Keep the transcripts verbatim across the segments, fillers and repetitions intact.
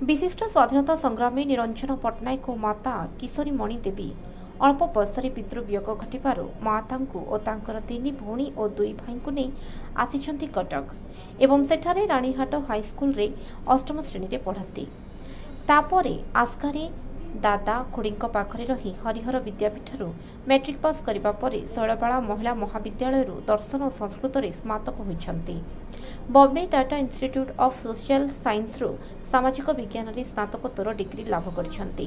ବିଶିଷ୍ଟ ସ୍ୱାଧୀନତା ସଂଗ୍ରାମୀ ନିରଞ୍ଜନ ପଟ୍ଟନାୟକ ଓ ମାତା କିଶୋରୀମଣି ଦେବୀ ଅଳ୍ପ ବୟସରେ ପିତୃବିୟୋଗ ଘଟିବାରୁ ମା ତାଙ୍କୁ ଓ ତାଙ୍କର ତିନି ଭଉଣୀ ଓ ଦୁଇ ଭାଇଙ୍କୁ ନେଇ ଆସିଛନ୍ତି କଟକ ଏବଂ ସେଠାରେ ରାଣୀହାଟ ହାଇସ୍କୁଲରେ ଅଷ୍ଟମ ଶ୍ରେଣୀରେ ପଢ଼ନ୍ତି। ତାପରେ ଆସ୍କାରେ ଦାଦା ଖୁଡ଼ୀଙ୍କ ପାଖରେ ରହି ହରିହର ବିଦ୍ୟାପୀଠରୁ ମେଟ୍ରିକ୍ ପାସ୍ କରିବା ପରେ ଶୈଳବାଳା ମହିଳା ମହାବିଦ୍ୟାଳୟରୁ ଦର୍ଶନ ଓ ସଂସ୍କୃତରେ ସ୍ନାତକ ହୋଇଛନ୍ତି। Bombay Tata institute of social ସାଇନ୍ସରୁ ସାମାଜିକ ବିଜ୍ଞାନରେ ସ୍ନାତକୋତ୍ତର ଡିଗ୍ରୀ ଲାଭ କରିଛନ୍ତି।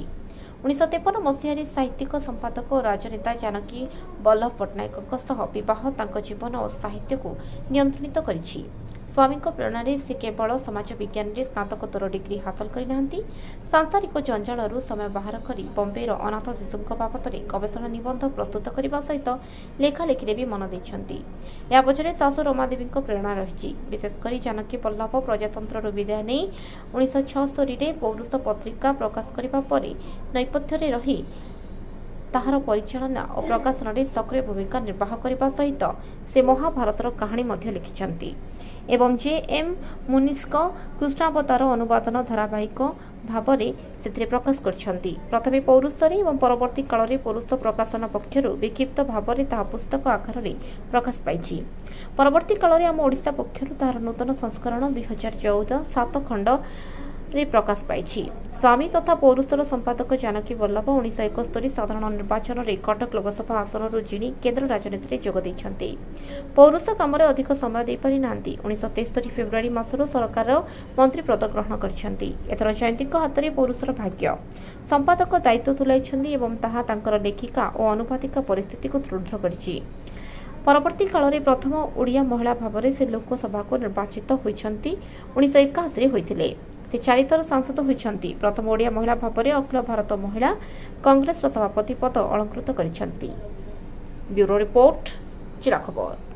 ଉଣେଇଶହ ତେପନ ମସିହାରେ ସାହିତ୍ୟିକ, ସମ୍ପାଦକ ଓ ରାଜନେତା ଜାନକୀ ବଲ୍ଲଭ ପଟ୍ଟନାୟକଙ୍କ ସହ ବିବାହ ତାଙ୍କ ଜୀବନ ଓ ସାହିତ୍ୟକୁ ନିୟନ୍ତ୍ରିତ କରିଛି। ସ୍ୱାମୀଙ୍କ ପ୍ରେରଣାରେ ସେ କେବଳ ସମାଜ ବିଜ୍ଞାନରେ ସ୍ନାତକୋତ୍ତର ଡିଗ୍ରୀ ହାସଲ କରିନାହାନ୍ତି, ସାଂସାରିକ ଜଞ୍ଜାଳରୁ ସମୟ ବାହାର କରି ବମ୍ବେର ଅନାଥ ଶିଶୁଙ୍କ ବାବଦରେ ଗବେଷଣା ନିବନ୍ଧ ପ୍ରସ୍ତୁତ କରିବା ସହିତ ଲେଖାଲେଖିରେ ବି ମନ ଦେଇଛନ୍ତି। ଏହା ପଛରେ ଶାଶୁ ରମାଦେବୀଙ୍କ ପ୍ରେରଣା ରହିଛି। ବିଶେଷ କରି ଜାନକୀ ବଲ୍ଲଭ ପ୍ରଜାତନ୍ତ୍ରରୁ ବିଦାୟ ନେଇ ଉଣେଇଶହ ଛଅସ୍ତରୀରେ ପୌରୁଷ ପତ୍ରିକା ପ୍ରକାଶ କରିବା ପରେ ନୈପଥ୍ୟରେ ରହି ତାହାର ପରିଚାଳନା ଓ ପ୍ରକାଶନରେ ସକ୍ରିୟ ଭୂମିକା ନିର୍ବାହ କରିବା ସହିତ ସେ ମହାଭାରତର କାହାଣୀ ମଧ୍ୟ ଲେଖିଛନ୍ତି ଏବଂ ଜେ ଏମ୍ ମୁନିସ୍ଙ୍କ କୃଷ୍ଣାବତାର ଅନୁବାଦନ ଧାରାବାହିକ ଭାବରେ ସେଥିରେ ପ୍ରକାଶ କରିଛନ୍ତି। ପ୍ରଥମେ ପୌରୁଷରେ ଏବଂ ପରବର୍ତ୍ତୀ କାଳରେ ପୌରୁଷ ପ୍ରକାଶନ ପକ୍ଷରୁ ବିକ୍ଷିପ୍ତ ଭାବରେ ତାହା ପୁସ୍ତକ ଆକାରରେ ପ୍ରକାଶ ପାଇଛି। ପରବର୍ତ୍ତୀ କାଳରେ ଆମ ଓଡ଼ିଶା ପକ୍ଷରୁ ତାହାର ନୂତନ ସଂସ୍କରଣ ଦୁଇ ହଜାର ଚଉଦ ସାତ ଖଣ୍ଡରେ ପ୍ରକାଶ ପାଇଛି। ସ୍ୱାମୀ ତଥା ପୌରୁଷର ସମ୍ପାଦକ ଜାନକୀ ବଲ୍ଲଭ ଉଣେଇଶହ ଏକସ୍ତରୀ ସାଧାରଣ ନିର୍ବାଚନରେ କଟକ ଲୋକସଭା ଆସନରୁ ଜିଣି କେନ୍ଦ୍ର ରାଜନୀତିରେ ଯୋଗ ଦେଇଛନ୍ତି। ପୌରୁଷ କାମରେ ଅଧିକ ସମୟ ଦେଇପାରି ନାହାନ୍ତି। ଉଣେଇଶହ ତେସ୍ତରୀ ଫେବୃଆରୀ ମାସରୁ ସରକାର ମନ୍ତ୍ରୀ ପଦ ଗ୍ରହଣ କରିଛନ୍ତି। ଏଥର ଜୟନ୍ତୀଙ୍କ ହାତରେ ପୌରୁଷର ଭାଗ୍ୟ। ସମ୍ପାଦକ ଦାୟିତ୍ୱ ତୁଲାଇଛନ୍ତି ଏବଂ ତାହା ତାଙ୍କର ଲେଖିକା ଓ ଅନୁବାଦିକା ପରିସ୍ଥିତିକୁ ଦୃଢ଼ କରିଛି। ପରବର୍ତ୍ତୀ କାଳରେ ପ୍ରଥମ ଓଡ଼ିଆ ମହିଳା ଭାବରେ ସେ ଲୋକସଭାକୁ ନିର୍ବାଚିତ ହୋଇଛନ୍ତି। ଉଣେଇଶହ ଏକାଅଶୀରେ ହୋଇଥିଲେ। ସେ ଚାରିଥର ସାଂସଦ ହୋଇଛନ୍ତି। ପ୍ରଥମ ଓଡ଼ିଆ ମହିଳା ଭାବରେ ଅଖିଳ ଭାରତ ମହିଳା କଂଗ୍ରେସର ସଭାପତି ପଦ ଅଳଙ୍କୃତ କରିଛନ୍ତି। ବ୍ୟୁରୋ ରିପୋର୍ଟ, ଜିଲ୍ଲା ଖବର।